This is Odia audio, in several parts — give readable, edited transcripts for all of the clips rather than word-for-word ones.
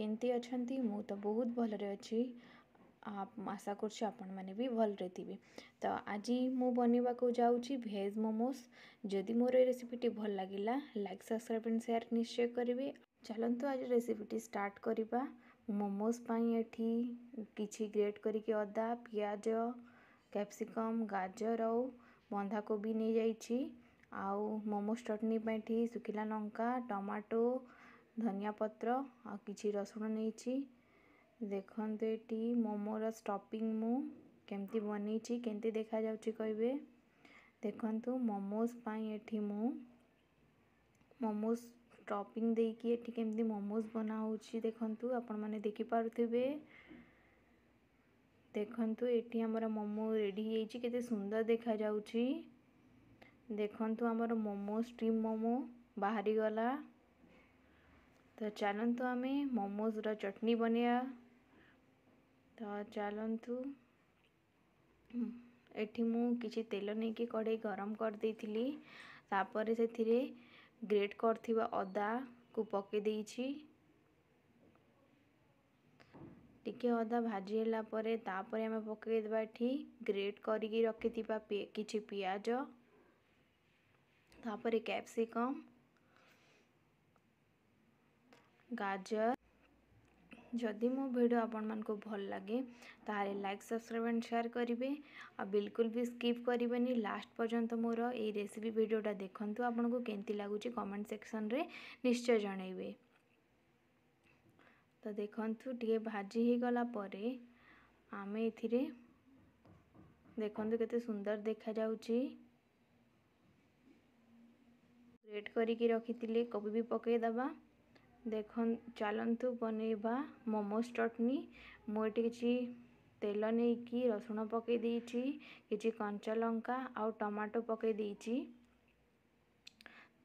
କେମିତି ଅଛନ୍ତି? ମୁଁ ତ ବହୁତ ଭଲରେ ଅଛି। ଆଶା କରୁଛି ଆପଣମାନେ ବି ଭଲରେ ଥିବେ। ତ ଆଜି ମୁଁ ବନେଇବାକୁ ଯାଉଛି ଭେଜ୍ ମୋମୋସ୍। ଯଦି ମୋର ଏ ରେସିପିଟି ଭଲ ଲାଗିଲା, ଲାଇକ୍, ସବସ୍କ୍ରାଇବ୍ ଆଣ୍ଡ ସେୟାର ନିଶ୍ଚୟ କରିବେ। ଚାଲନ୍ତୁ, ଆଜି ରେସିପିଟି ଷ୍ଟାର୍ଟ କରିବା। ମୋମୋସ୍ ପାଇଁ ଏଠି କିଛି ଗ୍ରେଟ୍ କରିକି ଅଦା, ପିଆଜ, କ୍ୟାପ୍ସିକମ୍, ଗାଜର ଆଉ ବନ୍ଧାକୋବି ନେଇଯାଇଛି। ଆଉ ମୋମୋସ୍ ଚଟଣି ପାଇଁ ଏଠି ଶୁଖିଲା ଲଙ୍କା, ଟମାଟୋ, ଧନିଆ ପତ୍ର ଆଉ କିଛି ରସୁଣ ନେଇଛି। ଦେଖନ୍ତୁ, ଏଠି ମୋମୋର ଷ୍ଟଫିଂ ମୁଁ କେମିତି ବନେଇଛି, କେମିତି ଦେଖାଯାଉଛି କହିବେ। ଦେଖନ୍ତୁ, ମୋମୋସ୍ ପାଇଁ ଏଠି ମୁଁ ମୋମୋସ୍ ଷ୍ଟଫିଂ ଦେଇକି ଏଠି କେମିତି ମୋମୋସ୍ ବନା ହେଉଛି, ଦେଖନ୍ତୁ, ଆପଣମାନେ ଦେଖିପାରୁଥିବେ। ଦେଖନ୍ତୁ, ଏଠି ଆମର ମୋମୋ ରେଡ଼ି ହେଇଯାଇଛି, କେତେ ସୁନ୍ଦର ଦେଖାଯାଉଛି। ଦେଖନ୍ତୁ, ଆମର ମୋମୋ, ଷ୍ଟିମ୍ ମୋମୋ ବାହାରିଗଲା। ତ ଚାଲନ୍ତୁ, ଆମେ ମୋମୋଜର ଚଟଣି ବନେଇବା। ତ ଚାଲନ୍ତୁ, ଏଠି ମୁଁ କିଛି ତେଲ ନେଇକି କଢ଼େଇ ଗରମ କରିଦେଇଥିଲି। ତାପରେ ସେଥିରେ ଗ୍ରେଟ୍ କରିଥିବା ଅଦାକୁ ପକାଇ ଦେଇଛି। ଟିକେ ଅଦା ଭାଜି ହେଲା ପରେ ତାପରେ ଆମେ ପକାଇଦେବା ଏଠି ଗ୍ରେଟ୍ କରିକି ରଖିଥିବା କିଛି ପିଆଜ, ତାପରେ କ୍ୟାପ୍ସିକମ୍, ଗାଜର। ଯଦି ମୋ ଭିଡ଼ିଓ ଆପଣମାନଙ୍କୁ ଭଲ ଲାଗେ, ତାହେଲେ ଲାଇକ୍, ସବସ୍କ୍ରାଇବ୍ ଆଣ୍ଡ ସେୟାର କରିବେ ଆଉ ବିଲକୁଲ ବି ସ୍କିପ୍ କରିବେନି। ଲାଷ୍ଟ ପର୍ଯ୍ୟନ୍ତ ମୋର ଏଇ ରେସିପି ଭିଡ଼ିଓଟା ଦେଖନ୍ତୁ। ଆପଣଙ୍କୁ କେମିତି ଲାଗୁଛି କମେଣ୍ଟ ସେକ୍ସନରେ ନିଶ୍ଚୟ ଜଣାଇବେ। ତ ଦେଖନ୍ତୁ, ଟିକେ ଭାଜି ହେଇଗଲା ପରେ ଆମେ ଏଥିରେ, ଦେଖନ୍ତୁ କେତେ ସୁନ୍ଦର ଦେଖାଯାଉଛି, ଗ୍ରେଟ୍ କରିକି ରଖିଥିଲେ କୋବି ବି ପକାଇଦେବା। ଦେଖ, ଚାଲନ୍ତୁ ବନେଇବା ମୋମୋସ୍ ଚଟଣି। ମୁଁ ଏଠି କିଛି ତେଲ ନେଇକି ରସୁଣ ପକାଇ ଦେଇଛି, କିଛି କଞ୍ଚା ଲଙ୍କା ଆଉ ଟମାଟୋ ପକାଇ ଦେଇଛି।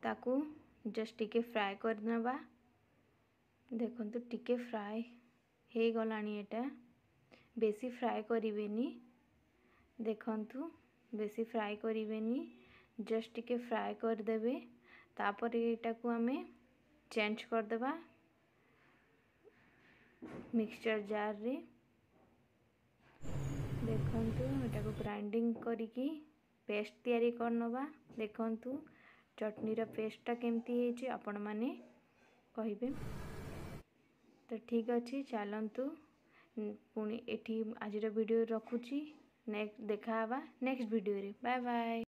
ତାକୁ ଜଷ୍ଟ ଟିକେ ଫ୍ରାଏ କରିନେବା। ଦେଖନ୍ତୁ, ଟିକେ ଫ୍ରାଏ ହେଇଗଲାଣି ଏଇଟା। ବେଶୀ ଫ୍ରାଏ କରିବେନି। ଦେଖନ୍ତୁ, ବେଶୀ ଫ୍ରାଏ କରିବେନି, ଜଷ୍ଟ ଟିକେ ଫ୍ରାଏ କରିଦେବେ। ତାପରେ ଏଇଟାକୁ ଆମେ ଚେଞ୍ଜ କରିଦେବା ମିକ୍ସଚର୍ ଜାର୍ରେ। ଦେଖନ୍ତୁ, ଏଟାକୁ ଗ୍ରାଇଣ୍ଡିଙ୍ଗ କରିକି ପେଷ୍ଟ ତିଆରି କରିନେବା। ଦେଖନ୍ତୁ, ଚଟଣିର ପେଷ୍ଟଟା କେମିତି ହେଇଛି ଆପଣମାନେ କହିବେ। ତ ଠିକ୍ ଅଛି, ଚାଲନ୍ତୁ, ପୁଣି ଏଠି ଆଜିର ଭିଡ଼ିଓ ରଖୁଛି। ନେକ୍ସଟ ଦେଖା ହେବା ନେକ୍ସଟ ଭିଡ଼ିଓରେ। Bye bye.